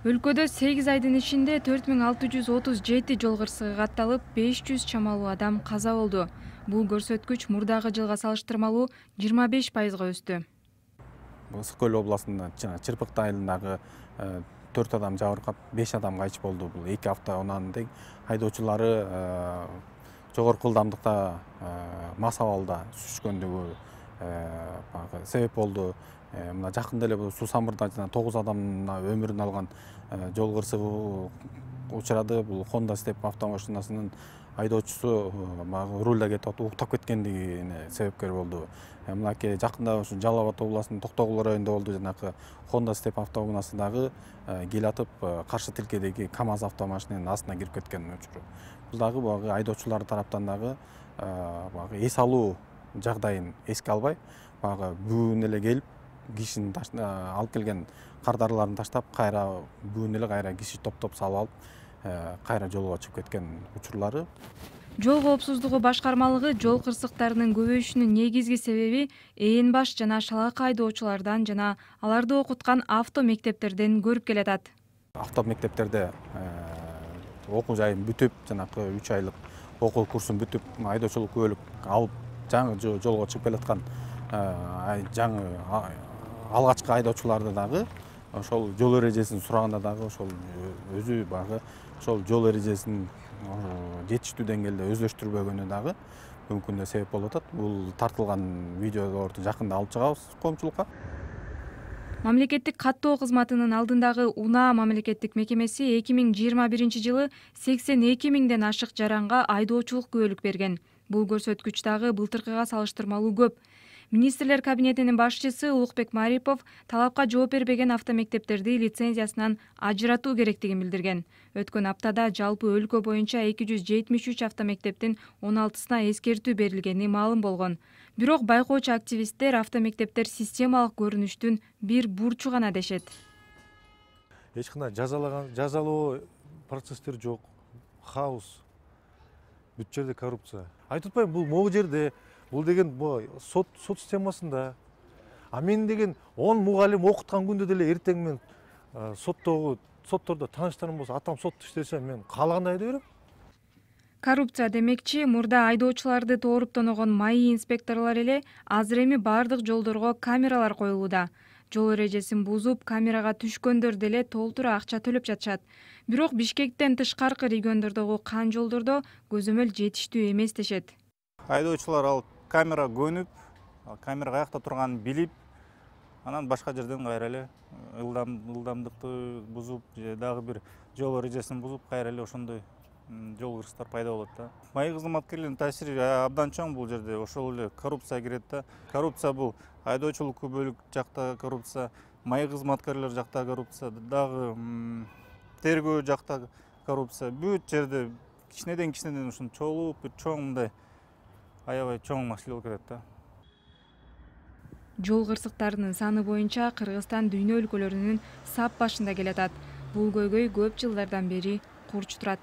Өлкөдө 8 айдын ичинде 4637 жол кырсыгы катталып, 500 чамалуу адам каза болду. Бул көрсөткүч мурдагы жылга салыштырмалуу 25%га өстү. Ысык көл областында Чырпыкты айылындагы 4 адам жабыркап, 5 адам кайтыш болду. Бул 2 автоунаанын айдоочулары жогорку ылдамдыкта мас абалда сүзүшкөндүгү себеп болду. Мына жакында эле суу самырда 9 адамдын өмүрүн алган жол кырсыгы учурады. Бул Honda Step автомашинасынын айдоочусу рулда кетип уктап кеткендигине себепкер болду. Мынакей жакында ушу Жалал Абад областынын Токтогул районунда болду. Жанакы Honda Step автоунаасы дагы келатып каршы тилкедеги КамАЗ автомашинанын астына кирип кеткен учуру. Бул дагы айдоочулар тараптан дагы эс алуу жагдайын эске албай, бүгүн эле келип кишини алып келген кардарыларын таштап, кайра бүгүн эле кайра киши топтоп салып алып, кайра жолго чыгып кеткен учурлары. Жол коопсуздугу башкармалыгы жол кырсыктарынын көбөйүшүнүн негизги себеби ээн баш жана шалаак айдоочулардан жана аларды окуткан авто мектептерден көрүп келатат. Авто мектептерде окуу жайын бүтүп, жанакы 3 айлык окуу курсун бүтүп, айдоочулук күбөлүк алып, жаңы жолго чыгып келаткан жаңы алгачкы айдоочуларды дагы ошол жол эрежесин сураганда дагы ошол өзү ошол жол эрежесин жетиштүү деңгээлде өздөштүрбөгөнү дагы мүмкүн да себеп болуп атат. Бул тартылган видеолорду жакында алып чыгабыз коомчулукка. Мамлекеттик каттоо кызматынын алдындагы УНА мамлекеттик мекемеси 2021 жылы 82 миңден ашык жаранга айдоочулук күбөлүк берген. Бул көрсөткүч дагы былтыркыга салыштырмалуу көп. Министрлер кабинетинин башчысы Улукбек Марипов талапка жооп бербеген автомектептерди лицензиясынан ажыратуу керектигин билдирген. Өткөн аптада жалпы өлкө боюнча 273 автомектептин 16сына эскертүү берилгени маалым болгон. Бирок байкоочу активисттер автомектептер системалык көрүнүштүн бир бурчу гана дешет. Эч кандай жазалоо процесстер жок, хаос. Бүт жерде коррупция. Айтып атпайбы, бул могу жерде, бул деген сот системасында. А мен деген 10 мугалим окуткан күндө деле эртең мен соттордо тааныштарым болсо, атам сотто иштесе, мен каалагандай айдай берем. Коррупция демекчи, мурда айдоочуларды тооруп тоногон маи инспекторлор эле азыр эми бардык жолдорго камералар коюлууда. Жол эрежесин бузуп, камерага түшкөндөр деле толтура акча төлөп жатышат. Бирок Бишкектен тышкаркы региондордогу кан жолдордо көзөмөл жетиштүү эмес дешет. Айдоочулар ал камера көнүп, камера каякта турганын билип, анан башка жерден кайра эле ылдамдыкты бузуп, же дагы бир жол эрежесин бузуп, кайра эле ошондой жол кырсыктар пайда болот да. Маи кызматкерлердин таасири абдан чоң бул жерде. Ошол эле коррупция кирет да. Коррупция бул айдоочулук күбөлүк жакта коррупция, маи кызматкерлер жакта коррупция, дагы тергөө жакта коррупция. Бүт жерде кичинеден ушун чогулуп, бир чоң мындай аябай чоң маселе болуп кетет да. Жол кырсыктарынын саны боюнча Кыргызстан дүйнө өлкөлөрүнүн сап башында келатат. Бул көйгөй көп жылдардан бери курч турат.